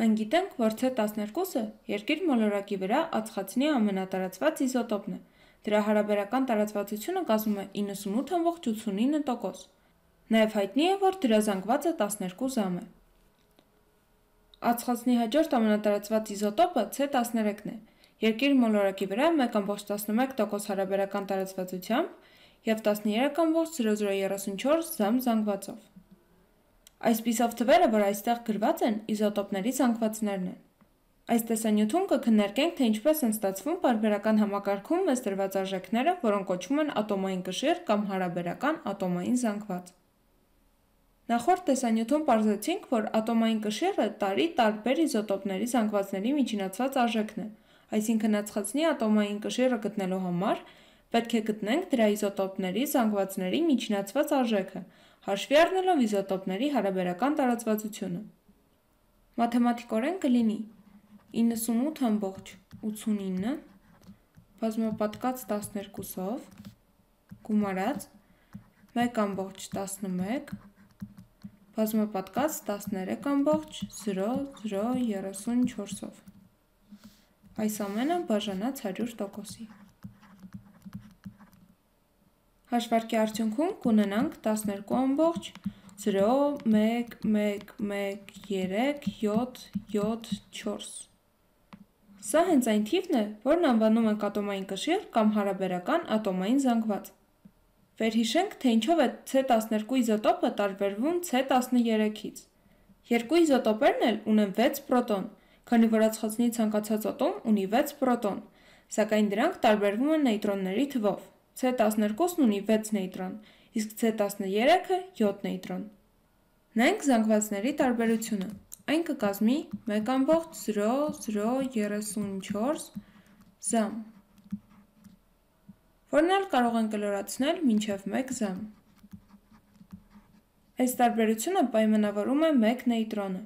Մենք գիտենք, որ C12-ը երկիր մոլորակի վրա ածխածնի ամենատարածված իզոտոպն է, դրա հարաբերական տարածվածությունը կազմում է 98,89%, նաև հայտնի է, որ դրա զանգվածը 12 ժամ է։ Ածխածնի հաջորդ ամենատարածված իզոտոպը C13-ն է, երկիր մոլորակի վրա 1,11% հարաբերական տարածվածությամբ և 13,0034 ժամ զանգվածով։ Այսպիսով թվերը, որ այստեղ գրված են, իզոտոպների զանգվածներն են։ Այս տեսանյութում կքննարկենք, թե ինչպես են ստացվում պարբերական համակարգում մեզ տրված արժեքները, որոնք կոչվում են ատոմային կշիռ կամ հարաբերական ատոմային զանգված։ Նախորդ տեսանյութում պարզեցինք, որ ատոմային կշիռը տարի տարբեր իզոտոպների զանգվածների միջինացված արժեքն է, այսինքն ածխածնի ատոմային կշիռը գտնելու համար պետք է գտնենք դրա իզոտոպների զանգվածների միջինացված արժեքը, հաշվի առնելով իզոտոպների հարաբերական տարածվածությունը։ Մաթեմատիկորեն կլինի 98,89 բազմապատկած 12-ով գումարած 1,11 բազմապատկած 13,0034-ով։ Այս ամենը բաժանած 100%-ի։ Հաշվարկի արդյունքում կունենանք 12,1113,774։ Սա հենց այն թիվն է, որն անվանում ենք ատոմային կշիռ կամ հարաբերական ատոմային զանգված։ Վերհիշենք, թե ինչով է C12 իզոտոպը տարբերվում C13-ից։ Երկու իզոտոպերն էլ ունեն 6 պրոտոն, քանի որ ածխածնի ցանկացած ատոմ ունի 6 պրոտոն, սակայն դրանք տարբերվում են նեյտրոնների թվով։ C12-ն ունի 6 նեյտրոն, իսկ C13-ը 7 նեյտրոն։ Նայենք զանգվածների տարբերությունը։ Այն կկազմի 1,0034 ժամ, որն էլ կարող են կլորացնել մինչև 1 ժամ։ Այս տարբերությունը պայմանավորում է 1 նեյտրոնը։